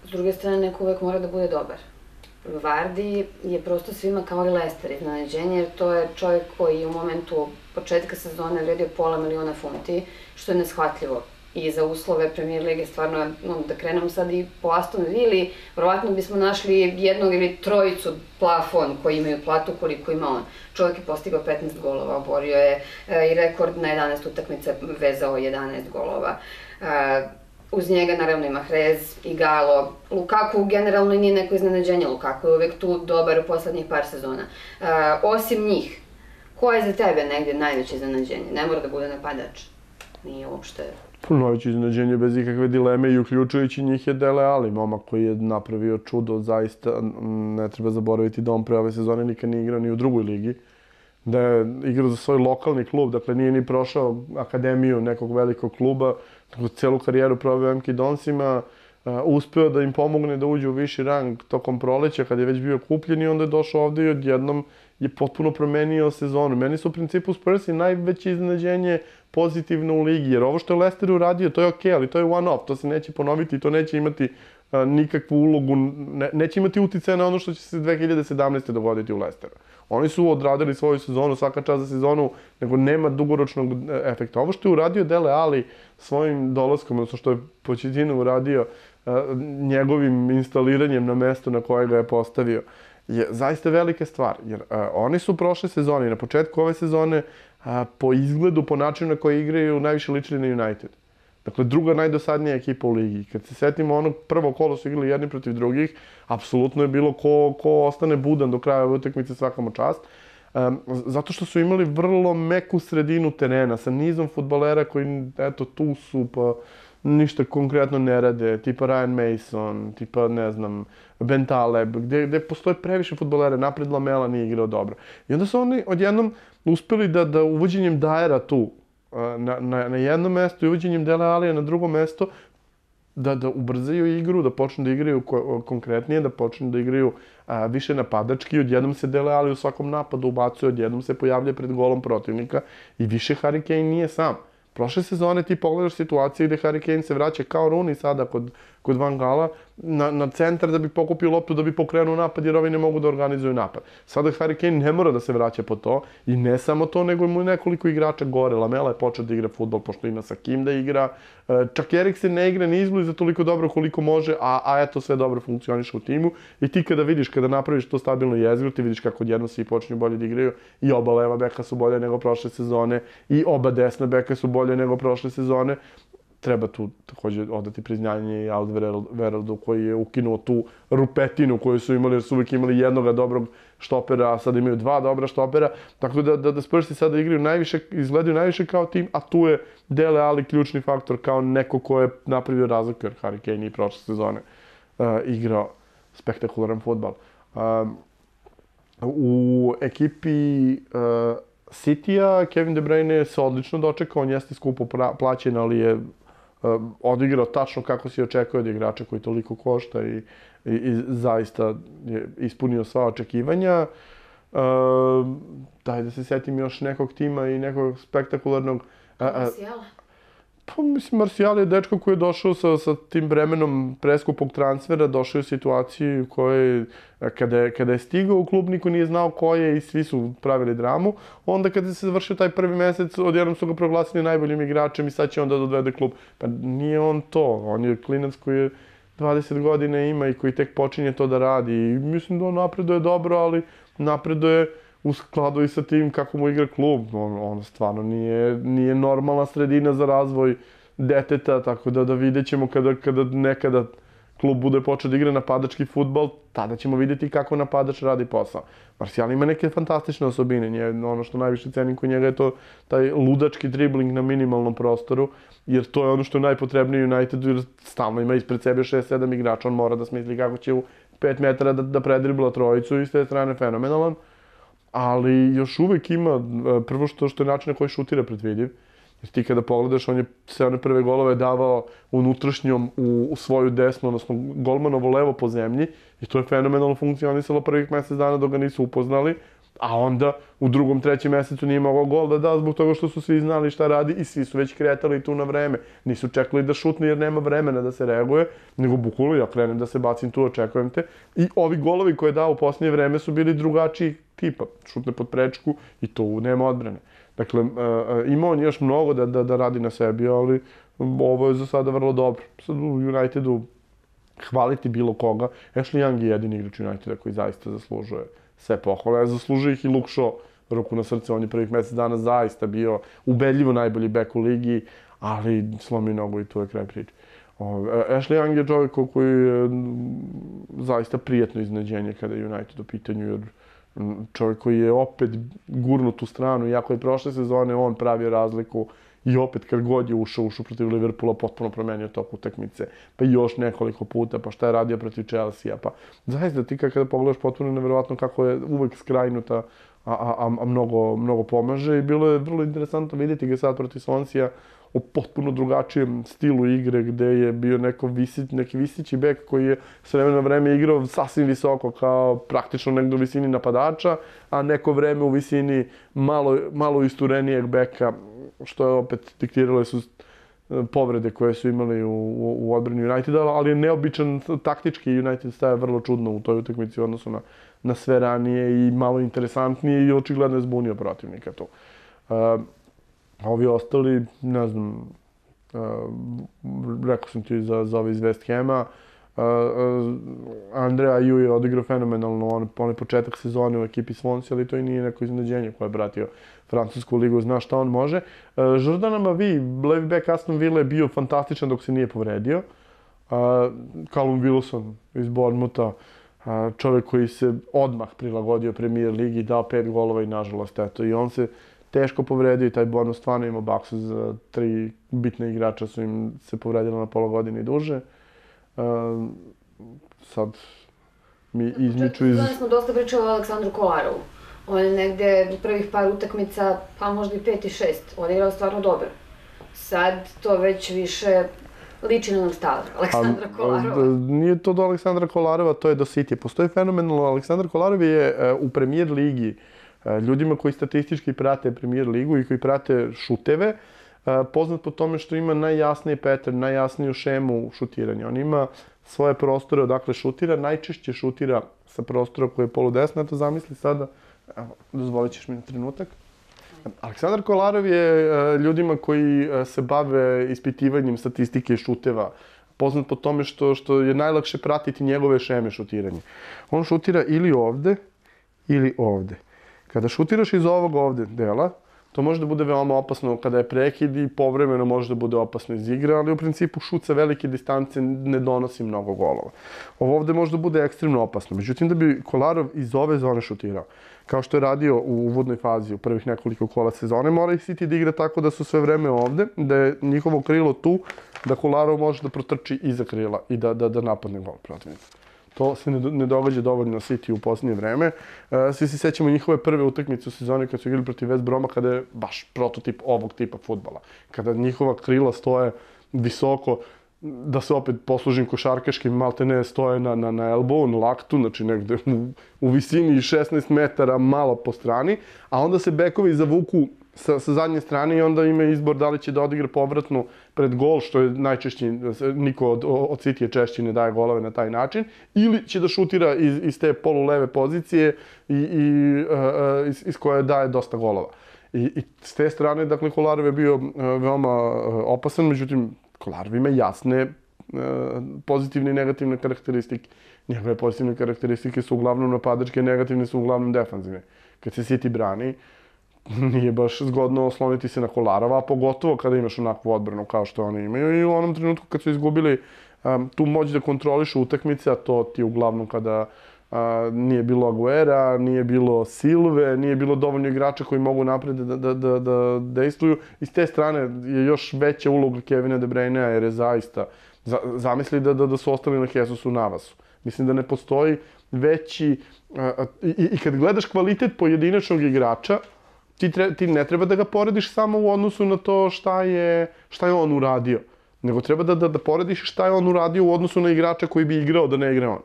S druge strane, neko uvek mora da bude dobar. Vardy je prosto svima kao i Leicester iznenađenje, jer to je čovjek koji u momentu početka sezone vredio $500.000, što je neshvatljivo. I za uslove Premier Lige, stvarno, da krenemo sad i po Aston Villi, verovatno bismo našli jednog ili trojicu plafon koji imaju platu koliko ima on. Čovjek je postigao 15 golova, oborio je i rekord na 11 utakmica, vezao 11 golova. Uz njega naravno ima Mahrez, Igalo, Lukaku generalno nije neko iznenađenje, Lukaku je uvek tu dobar u poslednjih par sezona. Osim njih, ko je za tebe negde najveće iznenađenje? Ne mora da bude napadač, nije uopšte... Najveće iznenađenje bez ikakve dileme i uključujući njih je Dele Alli, momak koji je napravio čudo, zaista ne treba zaboraviti da on pre ove sezone nikad nije igrao ni u drugoj ligi, da je igrao za svoj lokalni klub, dakle nije ni prošao akademiju nekog velikog kluba, celu karijeru proveo MK Donsima, uspeo da im pomogne da uđu u viši rang tokom proleća kad je već bio kupljen i onda je došao ovde i odjednom je potpuno promenio sezonu. Meni su u principu Spursi najveće iznenađenje pozitivno u ligi, jer ovo što je Leicester uradio, to je okej, ali to je one-off, to se neće ponoviti i to neće imati nikakvu ulogu, neće imati uticaja na ono što će se 2017. dogoditi u Leicesteru. Oni su odradili svoju sezonu, svaka čast za sezonu, nego nema dugoročnog efekta. Ovo što je uradio Dele Alli svojim dolaskom, odnosno što je Pochettino uradio njegovim instaliranjem na mesto na koje ga je postavio, je zaista velika stvar. Jer oni su prošle sezone i na početku ove sezone po izgledu, po načinu na koji igraju, najviše ličili na United. Dakle, druga najdosadnija ekipa u ligi. Kad se setimo onog prvo kolo su igrali jedni protiv drugih, apsolutno je bilo ko ostane budan do kraja ove utakmice, svaka mu čast. Zato što su imali vrlo meku sredinu terena sa nizom fudbalera koji, eto, tu su, pa ništa konkretno ne rade, tipa Ryan Mason, tipa, ne znam, Ben Taleb, gde postoje previše fudbalera, napred Lamela nije igrao dobro. I onda su oni odjednom uspeli da uvođenjem Dyera tu, na jedno mesto i uvođenjem Dele Allija na drugo mesto, da ubrzaju igru, da počnu da igraju konkretnije, da počnu da igraju više napadački, odjednom se Dele Alli u svakom napadu ubacuje, odjednom se pojavlja pred golom protivnika i više Harry Kane nije sam. Prošle sezone ti pogledaš situacije gde Harry Kane se vraća kao Rooney sada kod Van Gala na centar da bi pokupio loptu, da bi pokrenuo napad jer ovi ne mogu da organizuju napad. Sada Harry Kane ne mora da se vraća po to i ne samo to, nego mu nekoliko igrača gore. Lamela je počeo da igra fudbal pošto ima sa kim da igra. Čak Eriksen ne igra ni izbliza toliko dobro koliko može, a eto sve dobro funkcioniše u timu. I ti kada vidiš, kada napraviš to stabilno jezgro, ti vidiš kako odjedno svi počinju bolje da igraju i oba leva beka su bolje nego prošle sezone i oba desna beka su bolje nego prošle sezone. Treba tu takođe odati priznanje i Alderweireldeu koji je ukinuo tu rupetinu koju su imali, jer su uvijek imali jednoga dobrog štopera, a sad imaju dva dobra štopera. Tako da Spursi sada igraju najviše, izgledaju najviše kao tim, a tu je Dele Alli ključni faktor kao neko ko je napravio razliku, jer Harry Kane i prošle sezone igrao spektakularan fudbal. U ekipi City-a Kevin De Bruyne se odlično dočekao, on jeste skupo plaćen, ali je odigrao tačno kako si očekuje od igrača koji toliko košta i zaista je ispunio sva očekivanja. Daj da se setim još nekog tima i nekog spektakularnog... Martiala? Pa mislim, Martial je dečko koji je došao sa tim vremenom preskupog transfera, došao je u situaciju u kojoj kada je stigao u klub niko nije znao ko je i svi su pravili dramu. Onda kada se završio taj prvi mesec, odjednom su ga proglasili najboljim igračem i sad će on da dovede klub. Pa nije on to, on je klinac koji je 20 godina ima i koji tek počinje to da radi. I mislim da on napreduje dobro, ali napreduje u skladu i sa tim kako mu igra klub. On stvarno nije normalna sredina za razvoj deteta, tako da vidjet ćemo kada nekada klub bude počeo da igra napadački fudbal, tada ćemo vidjeti kako napadač radi posao. Martial ima neke fantastične osobine, ono što najviše cenim kod njega je to taj ludački dribling na minimalnom prostoru, jer to je ono što je najpotrebnije Unitedu, jer stalno ima ispred sebe 6-7 igrača, on mora da smisli kako će u 5 metara da predribla trojicu i s te strane fenomenalan. Ali još uvek ima, prvo što je način na koji šutira predvidiv. Jer ti kada pogledaš, on je sve one prve golove davao unutrašnjom u svoju desnu, odnosno golmanovo levo po zemlji. I to je fenomenalno funkcionisalo prvih mesec dana dok ga nisu upoznali. A onda u drugom, trećem mesecu nije mogao gol da da zbog toga što su svi znali šta radi i svi su već kretali tu na vreme. Nisu čekali da šutne jer nema vremena da se reaguje, nego bukvalno ja krenem da se bacim tu, očekujem te. I ovi golovi koje je dao u posljednje vreme su bili drugačiji tipa. Šutne pod prečku i tu nema odbrane. Dakle, ima on još mnogo da radi na sebi, ali ovo je za sada vrlo dobro. Sad u Unitedu hvaliti bilo koga. Ashley Young je jedini igrač Uniteda koji zaista zaslužuje sve pohvale. Zaslužuje ih i Luke Shaw, ruku na srce, on je prvih mjesec dana zaista bio ubedljivo najbolji bek u ligi, ali slomi nogu i tu je kraj priče. Ashley Young je čovjek koji je zaista prijetno iznenađenje kada je United u pitanju, jer čovjek koji je opet gurnut u stranu, iako je prošle sezone on pravio razliku i opet kad god je ušao protiv Liverpoola, potpuno promenio tok utakmice, pa još nekoliko puta, pa šta je radio protiv Chelsea, pa zaista ti kada pogledaš potpuno nevjerovatno kako je uvek skrajnuta, a mnogo pomaže i bilo je vrlo interesantno vidjeti ga sad protiv Swansea u potpuno drugačijem stilu igre gde je bio neki visići bek koji je s vremena na vreme igrao sasvim visoko kao praktično negdje u visini napadača, a neko vreme u visini malo isturenijeg beka, što je opet diktirale su povrede koje su imali u odbrani Uniteda, ali je neobičan taktički United staje vrlo čudno u toj utakmici u odnosu na sve ranije i malo interesantnije i očigledno je zbunio protivnika tu. Ovi ostali, ne znam, rekao sam ti za ove iz West Hama, Andrea Ayew je odigrao fenomenalno onaj početak sezone u ekipi Swansea, ali to i nije neko iznenađenje koje je pratio francusku ligu, zna šta on može. Jordan Amavi, levi bek Aston Villa, je bio fantastičan dok se nije povredio. Callum Wilson iz Bournemoutha, čovjek koji se odmah prilagodio Premier ligi, dao 5 golova i nažalost, eto, i on se teško povredio i taj Bournemouth stvarno imao baksu za 3 bitne igrača su im se povredila na pola godine i duže. Sad mi izmiču iz... Danas smo dosta pričali o Aleksandru Kolarovu. On je negde u prvih par utakmica, pa možda i 5 i 6. On je igrao stvarno dobro. Sad to već više liči na Aleksandra Kolarova. Nije to do Aleksandra Kolarova, to je do City. Postoji fenomenalno. Aleksandar Kolarov je u Premier ligi, ljudima koji statistički prate Premier ligu i koji prate šuteve, poznat po tome što ima najjasniji pattern, najjasniju šemu šutiranja. On ima svoje prostore odakle šutira, najčešće šutira sa prostora koji je poludesno. Eto, zamisli sada, dozvolit ćeš mi na trenutak. Aleksandar Kolarov je ljudima koji se bave ispitivanjem statistike šuteva poznat po tome što je najlakše pratiti njegove šeme šutiranja. On šutira ili ovde, ili ovde. Kada šutiraš iz ovog ovde dela, to može da bude veoma opasno kada je prekid i povremeno može da bude opasno iz igre, ali u principu šut sa velike distance ne donosi mnogo golova. Ovo ovde može da bude ekstremno opasno. Međutim, da bi Kolarov iz ove zone šutirao, kao što je radio u uvodnoj fazi u prvih nekoliko kola sezone, mora i City da igra tako da su sve vreme ovde, da je njihovo krilo tu, da Kolarov može da protrči iza krila i da napadne gol protivnika. To se ne događa dovoljno City u posljednje vreme. Svi se sjećamo njihove prve utakmice u sezoni kad su igrali protiv West Broma, kada je baš prototip ovog tipa fudbala. Kada njihova krila stoje visoko, da se opet poslužim košarkaškim, malte ne stoje na elbow, na laktu, znači negde u visini 16 metara malo po strani, a onda se bekovi zavuku sa zadnje strane i onda ima izbor da li će da odigra povratnu pred gol, što je najčešće, niko od City češće ne daje golove na taj način, ili će da šutira iz te poluleve pozicije iz koje daje dosta golova. I s te strane, dakle, Kolarov je bio veoma opasan, međutim, Kolarov ima jasne pozitivne i negativne karakteristike. Njegove pozitivne karakteristike su uglavnom napadačke, negativne su uglavnom defanzivne. Kad se City brani, nije baš zgodno osloniti se na Kolarova, a pogotovo kada imaš onakvu odbranu kao što oni imaju. I u onom trenutku kad su izgubili tu moć da kontrolišu utakmice, a to ti uglavnom kada nije bilo Aguera, nije bilo Silve, nije bilo dovoljno igrača koji mogu napred da dejstvuju. I s te strane je još veća uloga Kevina De Bruynea, jer je zaista, zamisli da su ostali na Jesusu Navasu. Mislim da ne postoji veći, i kad gledaš kvalitet pojedinačnog igrača, ti ne treba da ga porediš samo u odnosu na to šta je on uradio, nego treba da porediš šta je on uradio u odnosu na igrača koji bi igrao da ne igra on.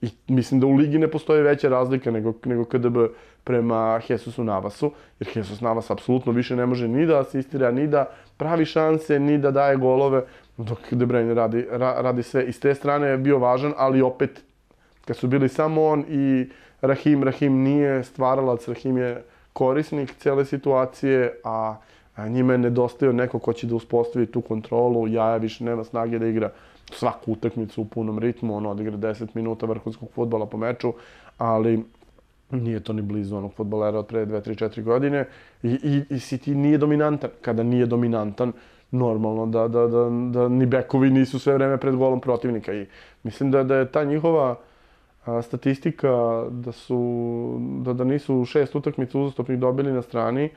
I mislim da u ligi ne postoji veća razlika nego KDB prema Jesusu Navasu, jer Jesus Navas apsolutno više ne može ni da asistira, ni da pravi šanse, ni da daje golove, dok De Bruyne radi sve. I s te strane je bio važan, ali opet, kad su bili samo on i Rahim nije stvaralac, Rahim je korisnik cele situacije, a njima je nedostajao neko ko će da uspostavi tu kontrolu. Jaja više nema snage da igra svaku utakmicu u punom ritmu, on odigra 10 minuta vrhunskog fudbala po meču, ali nije to ni blizu onog fudbalera od pre 2, 3, 4 godine i City nije dominantan. Kada nije dominantan, normalno da ni bekovi nisu sve vreme pred golom protivnika i mislim da je ta njihova statistika da nisu 6 utakmica uzastopnih dobili na strani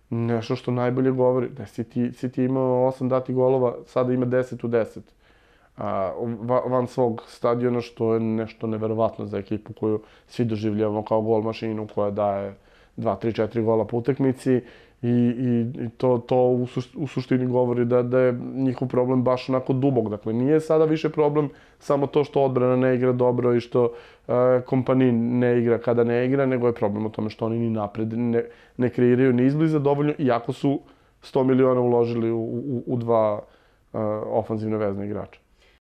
nešto što najbolje govori. Da City imao 8 dati golova, sada ima 10 u 10. Van svog stadiona, što je nešto neverovatno za ekipu koju svi doživljavamo kao gol mašinu koja daje 2, 3, 4 gola po utakmici i to u suštini govori da je njihov problem baš onako dubok. Dakle, nije sada više problem samo to što odbrana ne igra dobro i što Kompani ne igra kada ne igra, nego je problem u tome što oni ni napred ne kreiraju ni izbliza dovoljno, iako su 100 miliona uložili u dva ofanzivne vezne igrača.